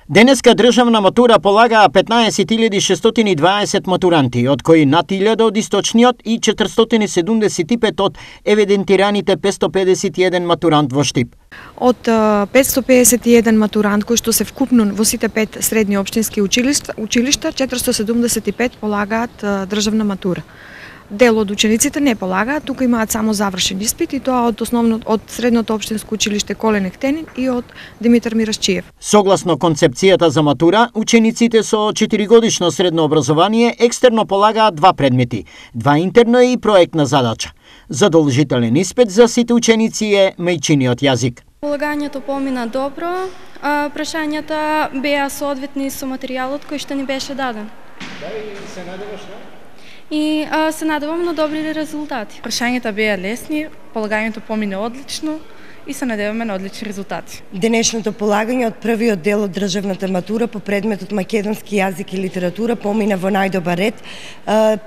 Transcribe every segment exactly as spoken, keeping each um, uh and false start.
Денеска државна матура полагаа петнаесет илјади шестстотини и дваесет матуранти, од кои над илјада од источниот и четиристотини седумдесет и пет од евидентираните петстотини педесет и еден матурант во Штип. Од петстотини педесет и еден матурант кои што се вкупно во сите пет средни општински училишта, училишта четиристотини седумдесет и пет полагаат државна матура. Дел од учениците не полагаат, тука имаат само завршен испит и тоа од основно од средното општинско училиште Колен Ехтенин и од Димитар Мирашчиев. Согласно концепцијата за матура, учениците со четиригодишно средно образование екстерно полагаат два предмети, два интерно и проектна задача. Задолжителен испит за сите ученици е мајчиниот јазик. Полагањето помина добро, а прашањата беа соодветни со материјалот кој што ни беше даден. Да, и се надеваш, да? И а, се надевам на добри резултати. Прашањата беа лесни, полагањето помине одлично и се надеваме на одлични резултати. Денешното полагање од првиот дел од државната матура по предметот македонски јазик и литература помина во најдобар ред.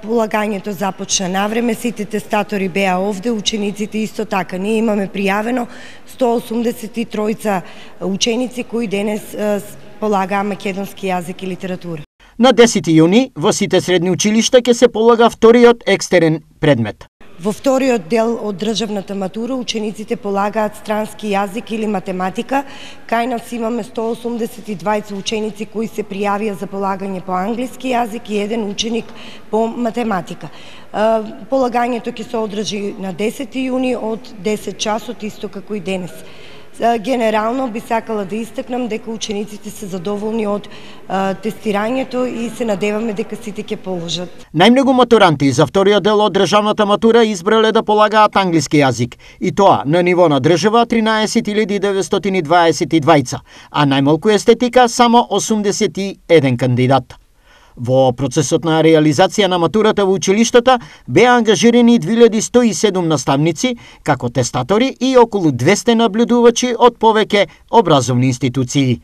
Полагањето започна навреме, сите тестатори беа овде, учениците исто така. Ние имаме пријавено сто осумдесет и тројца ученици кои денес полагаа македонски јазик и литература. На десети јуни во сите средни училишта ќе се полага вториот екстерен предмет. Во вториот дел од државната матура учениците полагаат странски јазик или математика. Кај нас имаме сто осумдесет и двајца ученици кои се пријавија за полагање по англиски јазик и еден ученик по математика. Полагањето ќе се одржи на десети јуни од десет часот, исто како и денес. Генерално би сакала да истакнам дека учениците се задоволни од а, тестирањето и се надеваме дека сите ќе положат. Најмногу матуранти за вториот дел од државната матура избрале да полагаат англиски јазик, и тоа на ниво на држава тринаесет илјади деветстотини дваесет и двајца, а најмалку естетика само осумдесет и еден кандидат. Во процесот на реализација на матурата во училиштата беа ангажирани две илјади сто и седум наставници, како тестатори и околу двесте наблюдувачи од повеќе образовни институции.